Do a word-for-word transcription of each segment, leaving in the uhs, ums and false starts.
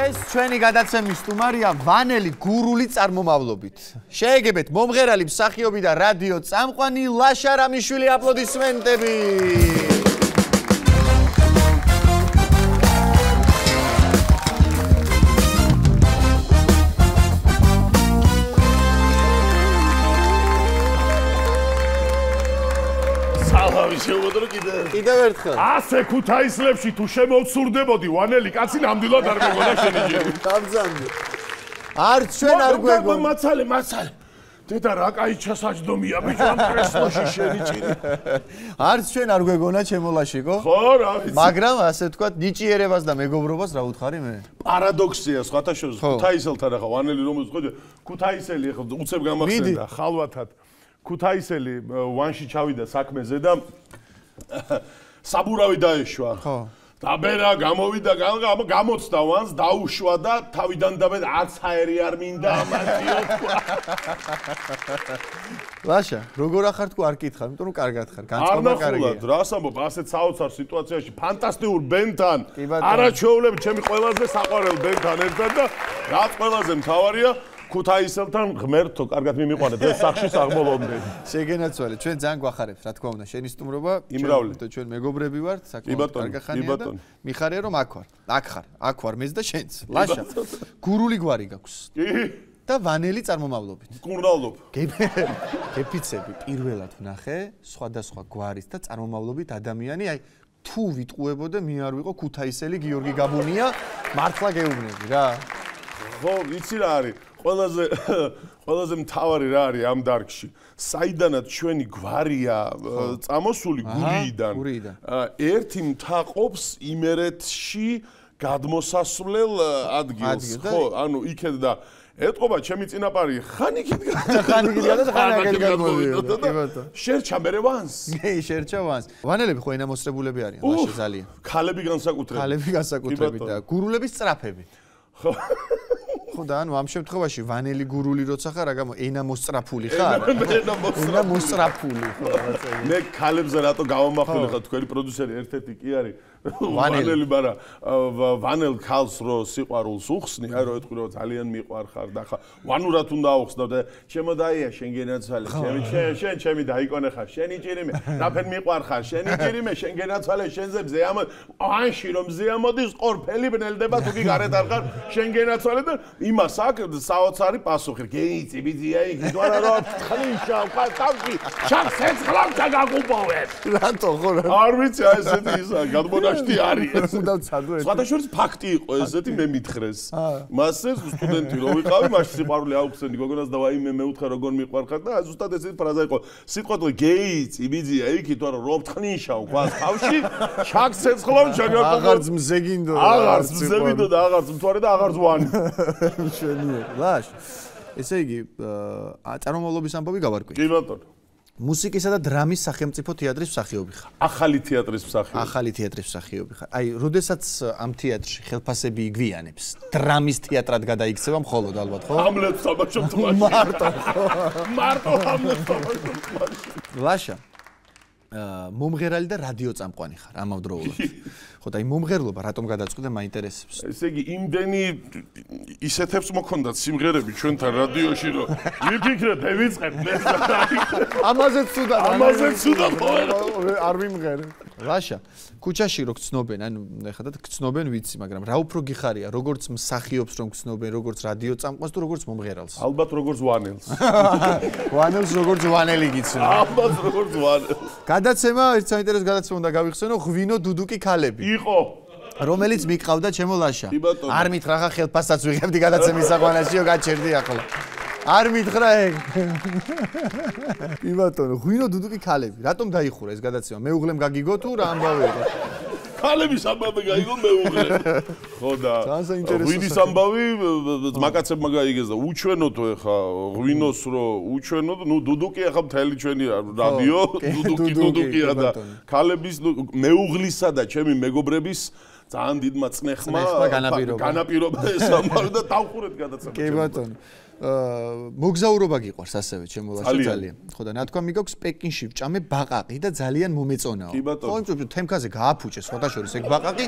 ეს ჩვენი გადაცემის სტუმარია ვანელი გურული წარმომავლობით. შეეგებეთ მომღერალი მსახიობი და რადიო წამყვანი ლაშა რამიშვილი აპლოდისმენტები. კიდევ ერთხელ. ასე ქუთაისლებში თუ შემოვცურდებოდი ვანელი კაცი ნამდვილად არ მეგონა შენი ჯერი. გამძანდი. არც ჩვენ არ გვეგონა. მაცალე, მაცალე. დედა რა კაი ჩასაჯდომია ბიჭო ამ კრესლოში შენი ჭირი. არც ჩვენ არ გვეგონა ჩემო ლაშიკო. ხო, რა ვიცი. მაგრამ ასე ვთქვათ, ნიჭიერებას და მეგობრობას რა უთხარი მე? პარადოქსია სხვათა შორის ქუთაისელთან ახლა ვანელი რომელიც ხო ქუთაისელი ახლა უცებ გამახსენდა ხალვათად. ქუთაისელი ვანში ჩავიდა საქმეზე და საბურავი დაეშვა. ხო. დაბერა გამოვიდა გამოცდა ვანს დაუშვა და თავიდან დაბერა არც ჰაერი არ მინდა ამათიო თქვა. ლაშა, როგორ ახარ თქვა არ კითხავ, იმიტომ რომ კარგად ხარ, განწყობა კარგია. არნახულად, რას ამბობ, ასეთ საოცარ სიტუაციაში ფანტასტიკურ ბენთან არაჩვეულები ჩემი ყველაზე საყვარელ ბენთან ერთად და რაც ყველაზე მთავარია ქუთაისელთან ღმერთო, კარგად მიმიყვანეთ ეს სახში საღმოლომდე. შეგენაცვალე, ჩვენ ძალიან გვახარებთ, რა თქმა უნდა, შენი სტუმრობა. იმრავლე. ჩვენ მეგობრები ვართ, საკმაოდ კარგი ხანია და მიხარია რომ აქ ვარ. აქ ხარ, აქ ვარ მეც და შენც. ლაშა. გურული გვარი გაქვს. კი. და ვანელი წარმომავლობით. კურნალობ. გეფიცები პირველად ვნახე სხვადასხვა გვარის და წარმომავლობით ადამიანი, აი თუ ვიტყუებოდე მე არ ვიყო ქუთაისელი გიორგი გაბუნია, მართლა გეუბნები რა. ხო, იცი რა არის? ყველაზე ყველაზე მთავარი რა არის ამ დარგში? საიდანაც ჩვენი გვარია წამოსული გურიიდან. ერთი მთაყოფს იმერეთში გადმოსასვლელ ადგილს, ხო, ანუ იქეთ და ეთყობა ჩემი წინაპარი ხან იქით ხან იქით და ხან აქეთ გადმოვიდა. შერჩა მერე ვანს. კი, შერჩა ვანს. ვანელები ხო ენამოსრებულები არიან, ლაშა ძალიან. ქალები განსაკუთრებით. ქალები განსაკუთრებით და გურულების სწრაფები. ხო. ხო და ანუ ამ შემთხვევაში ვანელი გურული როცა ხარ, აგამო ენა მოსწრაფული ხარ? ენა მოსწრაფული ხო რაღაცა. მე ქალებზე რატო გავამახვილე ხარ თქვენი პროდიუსერი ერთ-ერთი კი არის ვანელი, მაგრამ ვანელ ქალს რო სიყვარულს უხსნი, აი რო ეთქვი რომ ძალიან მიყვარხარ და ხა ვანურად უნდა აუხსნავ და ჩემო დაია შენ გენაცვალე, ჩემი შენ ჩემი დაიკონე ხარ, შენი ჭირიმე, რაფერ მიყვარხარ, შენი ჭირიმე, შენ გენაცვალე, შენზე მზე ამ ანში რომ მზე ამოდის ყორფელი ბნელდება თუ კი გარეთ არ ხარ, შენ გენაცვალე და იმას აქვს საოცარი პასუხი. გეიცი ბიძია იქ თუ არა რომ ხლიშა ყავში შახსეც ხლავდა გაგუბოვეს. რატო ხო რა? არ ვიცი აი ესეთი ისა გადმონაშთი არის. უნდა ვცადო ეს. სხვადასხვა ფაქტი იყო ესეთი მე მითხრეს. მასე სტუდენტი რო ვიყავი, მაშინ სიყვარული აუხსენდი გოგონას და ვაიმე მე უთხრა როგორ მიყვარხარ და ზუსტად ესეთი ფრაზა იყო. სიტყვაზე გეიცი ბიძია იქ თუ არა რომ ხლიშა ყავში შახსეც ხლავდა გაგუბოვეს. აღარც მზე გინდო. აღარც მზე გინდო და აღარც მთვარე და აღარც ვანი. შენია. ლაშ. ესე იგი, წარმომავლობის ამბავი გავარკვი. კი ბატონო. მუსიკისა და დრამის სახელმწიფო თეატრის მსახიობი ხარ. ახალი თეატრის მსახიობი. ახალი თეატრის მსახიობი ხარ. აი, როდესაც ამ თეატრში ხელფასები იგვიანებს, დრამის თეატრად გადაიქცევა მხოლოდ ალბათ, ხო? ჰამლეტს თამაშობ თამაში. მარტო, ხო? მარტო ჰამლეტს თამაშობ თამაში. ლაშა. აა მომღერალი და რადიო წამყვანი ხარ ამავდროულად. ხო და აი მომღერლობა რატომ გადაწყვიტე მაინტერესებს. ესე იგი იმდენი ისეთებს მოქონდათ სიმღერები ჩვენთან რადიოში რომ ვიფიქრეთ ვიწყებ მე. ამაზე ცუდად ამაზე ცუდად არ ვიმღერ. ლაშა, ქუჩაში რო გცნობენ, ანუ ეხლა და გცნობენ ვიცი, მაგრამ რა უფრო გიხარია, როგორც მსახიობს რომ გცნობენ, როგორც რადიო წამყვანს თუ როგორც მომღერალს? ალბათ როგორც ვანელს. ვანელს როგორც ვანელი გიცნობ. ალბათ როგორც ვანელს. გადაცემა, ერთ საინტერესო გადაცემა უნდა გავიხსენო, ღვინო დუდუკი ქალები. იყო. რომელიც მიყავდა ჩემო ლაშა. არ მითხრა ხა ხელფასსაც ვიღებდი გადაცემის საყვანაშიო გაჩერდი ახლა. არ მითხრა ეგ. კი ბატონო, ღვინო დუდუკი ქალები. რატომ დაიხურა ეს გადაცემა? მეუღლემ გაგიგო თუ რა ამბავი იყო? ქალების ამბავი გაიგო მეუღლე. ხო და ღვინის ამბავი მაკაცებმა გაიგეს და უჩვენოთ ეხა ღვინოს რო უჩვენოთ, ნუ დუდუკი ეხა მთელი ჩვენი რადიო, დუდუკი დუდუკია და ქალების მეუღლისა და ჩემი მეგობრების ძალიან დიდმა წნეხმა განაპირობა ეს ამბავი და დავხურეთ გადაცემა. კი ბატონო. მოგზაურობა გიყვარს ასევე ჩემო ლაშა ძალიან. ხო და ნათქვა მიგაქვს პეკინში ვჭამე ბაყაყი და ძალიან მომეწონაო. ხო, იმ თემქაზე გააფუჭე სხვადასხვა ეგ ბაყაყი.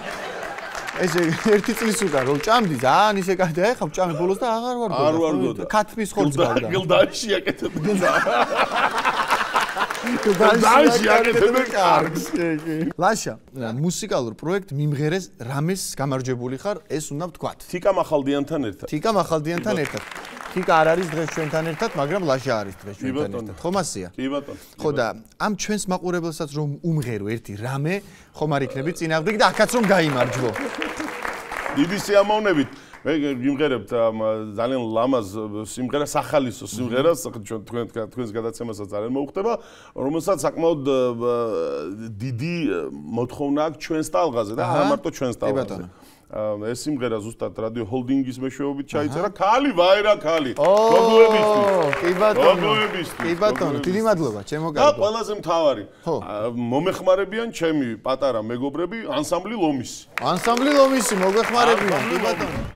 ესე ერთი წლის უკან რომ ჭამდი ძალიან ისე კაი ეხა ჭამი ბოლოს და აღარ ვარ არ ვარ გოდა ქათმის ხორცს გავდა გილდაში აკეთებდი გილდაში აკეთებდი კარგს ლაშა მუსიკალურ პროექტ მიმღერეს რამეს გამარჯვებული ხარ ეს უნდა ვთქვათ თიკა მახალდიანთან ერთად თიკა მახალდიანთან ერთად თიკა არ არის დღეს ჩვენთან ერთად მაგრამ ლაშა არის დღეს ჩვენთან ერთად ხომ ასია კი ბატონო ხო და ამ ჩვენს მაყურებელსაც რომ უმღერო ერთი რამე ხომ არ იქნები წინააღმდეგ და აქაც რომ გაიმარჯვო დიდი სიამოვნებით მე გიმღერებთ ძალიან ლამაზ სიმღერა სახალისო სიმღერას ჩვენ თქვენ თქვენს გადაცემასაც ძალიან მოუხდება რომელსაც საკმაოდ დიდი მოთხოვნა აქვს ჩვენს ტალღაზე და არა მარტო ჩვენს ტალღაზე ეს სიმღერა ზუსტად რადიო ჰოლდინგის მეშვეობით ჩაიწერა ქალი ვაირა ქალი გოგოებისთვის კი ბატონო გოგოებისთვის კი ბატონო დიდი მადლობა ჩემო კარგო და ყველაზე მთავარი მომეხმარებიან ჩემი პატარა მეგობრები ანსამბლი ლომისი ანსამბლი ლომისი მოგეხმარებიან კი ბატონო